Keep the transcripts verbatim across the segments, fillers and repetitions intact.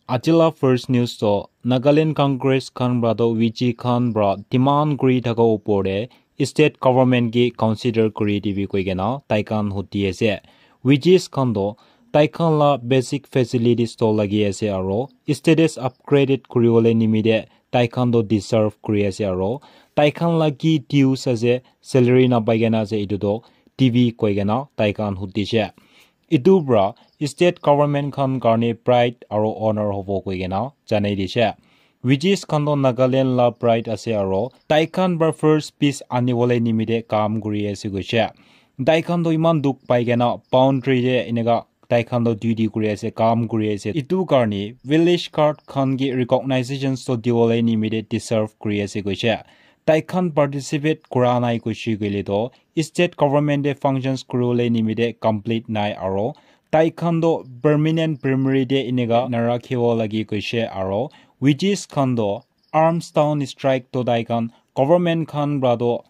Ajila first news to Nagaland Congress khan pra to V G khan pra demand kuri thaka upor te state government ki consider kuri dibi koi kena tai khan hudi ase. V Gs khan to tai khan la basic facilities to lagi ase aro status upgraded kuri wole nimite tai khan to deserve kuri ase aro tai khan la ki dues ase, salary na pai kena ase, etu to dibi koi kena tai khan hudi se. Etu pra state government khan karne pride aro honor hobo koi kena janai dise. V Gs khan to Nagaland la pride ase aro tai khan pra first peace ani wole nimite kam kuri ase koise. Tai khan to iman dukh pai kena boundary te eneka tai khan to duty kuri ase, kam kuri ase. Etu karne village guard khan ki recognizations to diwole nimite deserve kuri ase koise. Tai khan participate kura nai koise koile to state government te functions kuri wole nimite complete nai aro tai khan to permanent primary te eneka narakhiwo lagi koise aro V Gs khan to arms down strike to tai khan government khan pra to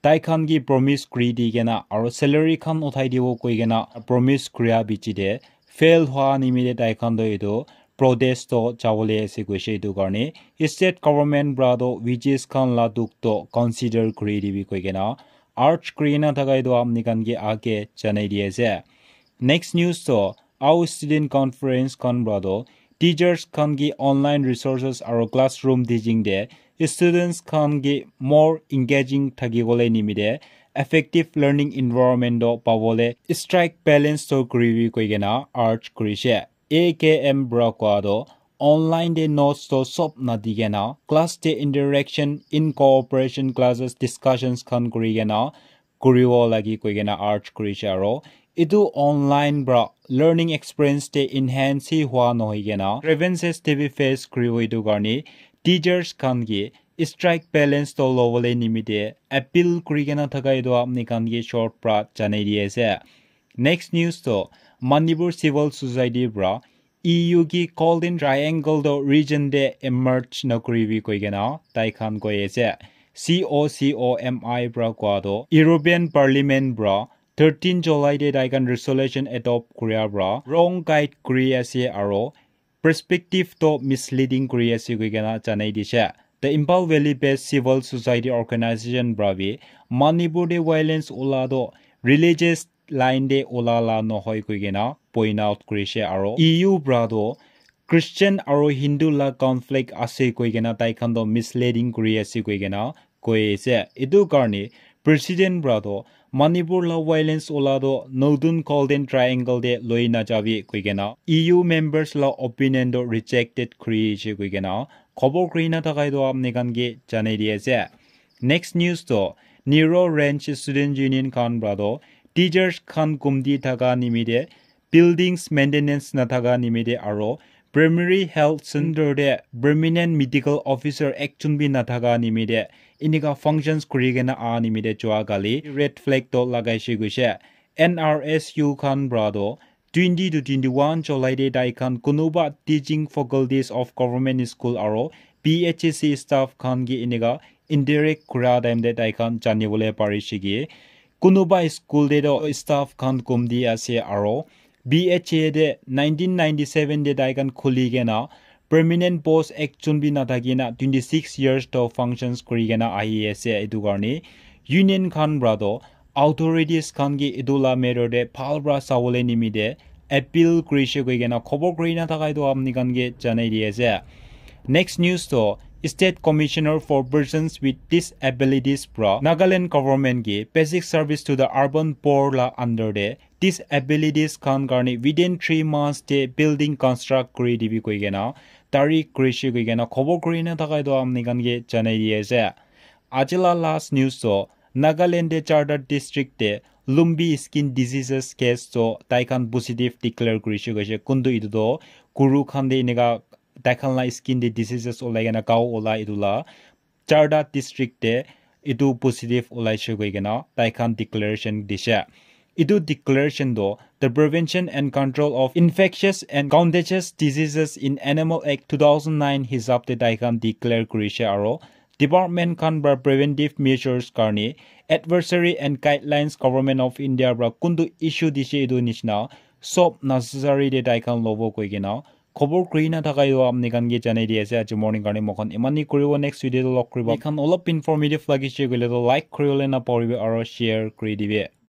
tai khan ki promise kuri di kena aro salary khan uthai dibo koi kena promise kuria bichi te fail hwa nimite tai khan to etu protest to jawole ase koise. Etu karne state government pra to V Gs khan la dukh to consider kuri dibi koi kena urge kuri kena thaka etu apni khan ke age janai di ase. Next news to Ao Student Conference khan pra to teachers khan ki online resources aro classroom teaching te students khan ki more engaging thaki wole nimite effective learning environment to pawole strike balance to kuribi koi kena urge kurise. A K M pra kowa to online te notes to sob nadi kena class te interaction in cooperation classes discussions khan kuri kena kuriwo lagi koi kena urge kurise aro etu online pra learning experience te enhance hi hwa nohoi kena grievances te bi face kuriwo etu karne teachers khan ki strike balance to lobole nimite appeal kuri kena thaka etu apni khan ki short pra janai di ase. Next news to Manipur Civil Society pra E U ki Golden Triangle to region te emerge na kuribi koi kena tai khan koi ase. C O C O M I pra kowa to European Parliament pra thirteen July te tai khan resolution adopt kuria pra wrong guide kuri ase aro perspective to misleading kuri ase koi kena janai dise. The Imphal Valley based civil society organization pra bi Manipur te violence ula to religious line te ula la nohoi koi kena point out kurise aro E U pra to Christian aro Hindu la conflict ase koi kena tai khan to misleading kuri ase koi kena koi ase. Etu karne president pra to Manipur la violence ula to notun Golden Triangle te loi na jabi koi kena E U members la opinion to rejected kuri ase koi kena khobor kuri na thaka etu apni khan ke janai di ase. Next news to Nero Range Student Union khan pra to teachers khan kumti thaka nimite buildings maintenance na thaka nimite aro primary health center te permanent medical officer ekjon bi na thaka nimite enika functions kuri kena a nimite jua kali red flag to lagaise koise. N R S U khan pra to twenty to twenty-one July te tai khan kunuba teaching faculties of government school aro P H E C staff khan ki enika interact kura time te tai khan janibole parise ki kunuba school te to staff khan kumti ase aro B H A te nineteen ninety-seven te tai khan khuli kena permanent post ekjon bi nathaki na twenty-six years to functions kuri kena ahi ase. Etu karne union khan pra to authorities khan ki etu la matter te bhal pra sawole nimite appeal kurise koi kena khobor kuri na thaka etu apni khan ke janai di ase. Next news to State Commissioner for Persons with Disabilities pra Nagaland government ki basic service to the urban poor la under te disabilities khan karne within three months te building construct kuri dibi koi kena tarik kurise koi kena khobor kuri na thaka etu apni khan ke janai di ase. Ajila last news to Nagaland te charta district te Lumbi skin diseases case to tai khan positive declare kurise koise. Kuntu etu to guru khan te enika tai khan la skin te diseases olai kena gao ola etu la charta district te etu positive olaise koi kena tai khan declaration dise. Etu declaration to the Prevention and Control of Infectious and Contagious Diseases in Animal Act two thousand nine hisab te tai khan declare kurise aro department khan pra preventive measures karne advisory and guidelines Government of India pra kuntu issue dise etu nishina sob necessary te tai khan lobo koi kena Khobor kuri na thaka etu apni khan ke janai di ase. Aji morning karne moikhan eman hi kuribo, next video te log kuribo. Etu khan olop informative lagise koile toh like kuribole na pahoribi aro share kuri dibi.